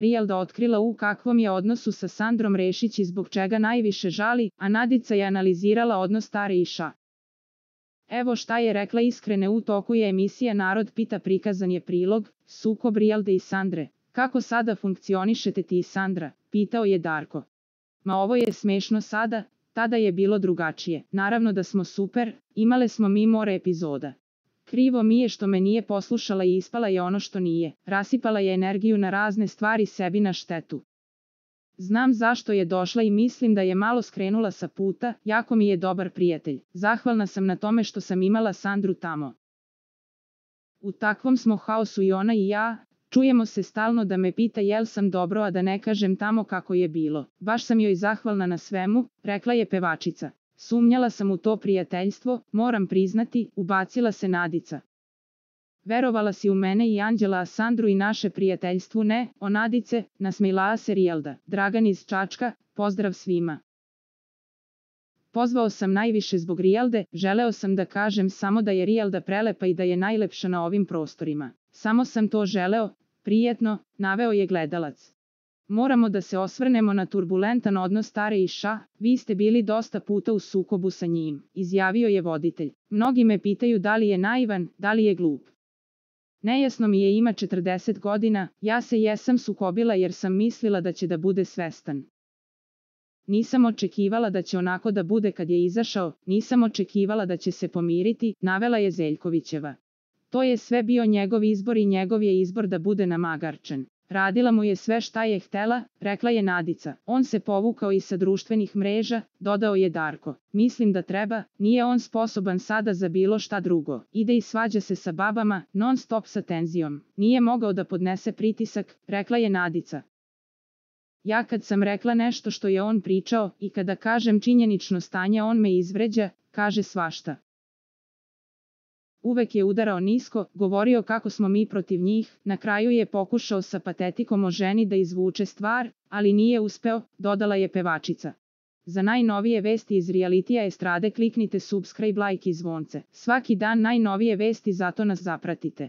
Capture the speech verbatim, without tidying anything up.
Rijelda otkrila u kakvom je odnosu sa Sandrom Rešić i zbog čega najviše žali, a Nadica je analizirala odnos stare i ša. Evo šta je rekla iskrene u toku je emisija Narod pita, prikazan je prilog, sukob Rijelde i Sandre. Kako sada funkcionišete ti i Sandra? Pitao je Darko. Ma ovo je smešno sada, tada je bilo drugačije. Naravno da smo super, imale smo mi more epizoda. Krivo mi je što me nije poslušala i ispala je ono što nije. Rasipala je energiju na razne stvari sebi na štetu. Znam zašto je došla i mislim da je malo skrenula sa puta, jako mi je dobar prijatelj. Zahvalna sam na tome što sam imala Sandru tamo. U takvom smo haosu i ona i ja, čujemo se stalno da me pita jel sam dobro, a da ne kažem tamo kako je bilo. Baš sam joj zahvalna na svemu, rekla je pevačica. Sumnjala sam u to prijateljstvo, moram priznati, ubacila se Nadica. Verovala si u mene i Anđela, a Sandru i naše prijateljstvu ne, o Nadice, nasmejala se Rijelda. Dragan iz Čačka, pozdrav svima. Pozvao sam najviše zbog Rijelde, želeo sam da kažem samo da je Rijelda prelepa i da je najlepša na ovim prostorima. Samo sam to želeo, prijetno, naveo je gledalac. Moramo da se osvrnemo na turbulentan odnos stare i ša, vi ste bili dosta puta u sukobu sa njim, izjavio je voditelj. Mnogi me pitaju da li je naivan, da li je glup. Nejasno mi je, ima četrdeset godina, ja se jesam sukobila jer sam mislila da će da bude svestan. Nisam očekivala da će onako da bude kad je izašao, nisam očekivala da će se pomiriti, navela je Zeljkovićeva. To je sve bio njegov izbor i njegov je izbor da bude namagarčen. Radila mu je sve šta je htela, rekla je Nadica. On se povukao i sa društvenih mreža, dodao je Darko. Mislim da treba, nije on sposoban sada za bilo šta drugo. Ide i svađa se sa babama, non stop sa tenzijom. Nije mogao da podnese pritisak, rekla je Nadica. Ja kad sam rekla nešto što je on pričao i kada kažem činjenično stanje on me izvređa, kaže svašta. Uvek je udarao nisko, govorio kako smo mi protiv njih, na kraju je pokušao sa patetikom o ženi da izvuče stvar, ali nije uspeo, dodala je pevačica. Za najnovije vesti iz realitija estrade kliknite subscribe, like i zvonce. Svaki dan najnovije vesti, zato nas zapratite.